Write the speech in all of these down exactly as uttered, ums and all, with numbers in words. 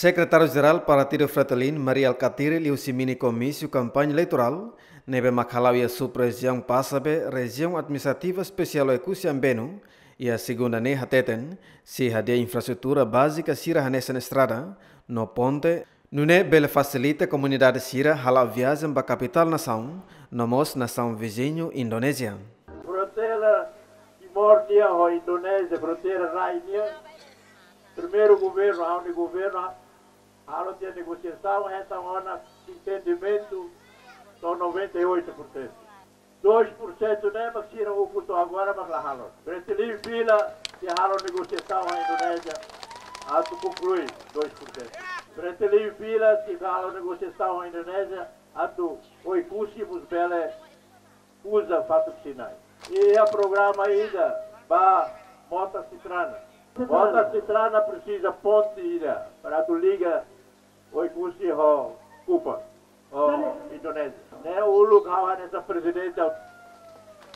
Sekretáriu-Jerál Partidu Fretilin, Mari Alkatiri, liuhusi mini komísiu kampaña eleitorál ne'ebé mak hala'o iha sub-rejiaun Passabe, Rejiaun Administrativa Espesiál Oekusi Ambenu, iha segunda ne'e hateten, sei hadi'a infraestrutura bázika sira hanesan estrada no ponte, nune'e bele fasilita komunidade sira hala'o viajen ba kapitál nasaun, no mós nasaun viziñu Indonézia. Fronteira Timor nian ho Indonézia, fronteira rai nian, primeiru governu, ha'u-nia governu, halo tiha negosiasaun, hetan ona entendimentu to'o noventa e oito por cento. Dois por cento ne'e mak sira ukun to'o agora mak la halo. Fretilin fila sei halo negosiasaun ho Indonézia atu konklui dois por cento. Fretilin fila sei halo negosiasaun ho Indonézia atu Oekusi mós bele uza Fatuk Sinai. Iha programa ida ba Mota Citrana. Mota Citrana presiza ponte ida para atu liga Oekusi ho Kupang, ho Indonézia. Ne'e uluk ha'u hanesan prezidente, au-,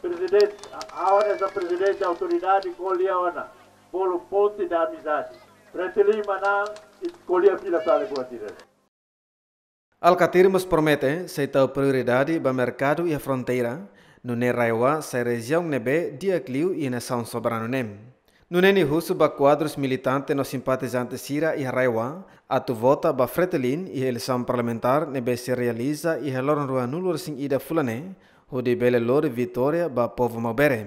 prezidente, ha'u hanesan prezidente autoridade ko'alia ona bolu ponte da amizade. Fretilin manán, i ko'alia fila fali buat ida. Alkatiri mós promete sei tau prioridade ba merkadu iha fronteira, nune'e RAEOA sai rejiaun ne'ebé di'ak liu iha nasaun soberanu ne'e. Nune'e nia husu ba kuadrus militante no simpatizante sira iha RAEOA atu vota ba Fretilin iha eleisaun parlamentár ne'ebé sei realiza iha loron ruanulu-resin-ida fulan ne'e, hodi bele lori vitória ba povu Maubere.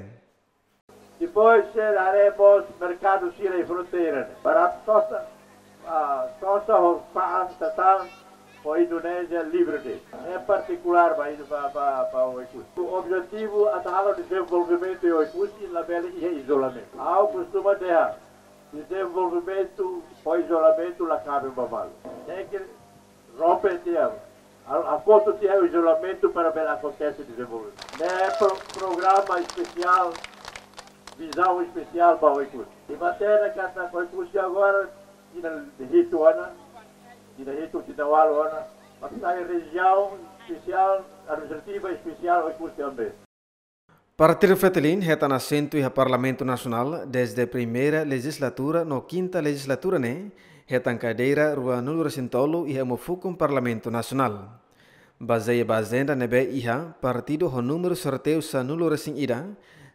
Depois sei haree mós merkadu sira iha fronteira ne'e. Para sosa, ah, sosa ho fa'an tatan ho Indonézia livre de'it. Ne'e partikulár ba, ba, ba, ba Oekusi. Objetivu atu halo dezenvolvimentu iha Oekusi, labele iha izolamentu. Ha'u kostuma dehan, dezenvolvimentu ho izolamentu la kaben ba malu. Tenke rompe tiha, a, hakotu tiha izolamentu para bele akontese dezenvolvimentu. Ne'e pro-, programa espesiál, vizaun espesiál ba Oekusi. I matenek katak Oekusi agora tinan hitu ona, tinan hitu, tinan ualu ona, mak sai rejiaun espesiál, administrativa espesiál Oekusi Ambenu. Partidu Fretilin hetan asentu iha Parlamentu Nasionál dezde primeira lejizlatura no kinta lejizlatura ne'e hetan kadeira ruanulu-resin-tolu iha umfukun Parlamentu Nasionál. Bazeia ba ajenda ne'ebé iha, partidu ho númeru sorteiu sanulu-resin-ida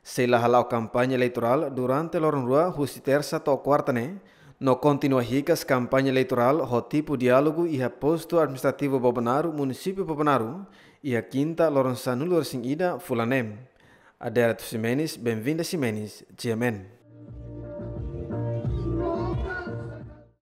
sei la hala'o kampaña eleitorál durante loron rua husi tersa to'o kuarta ne'e, no kontinua hikas kampaña eleitorál ho tipu diálogu iha postu administrativu Bobonaro, munisípiu Bobonaro, iha kinta loron sanulu-resin-ida fulan ne'e. Adérito Ximenes, Benvinda Ximenes, G M N.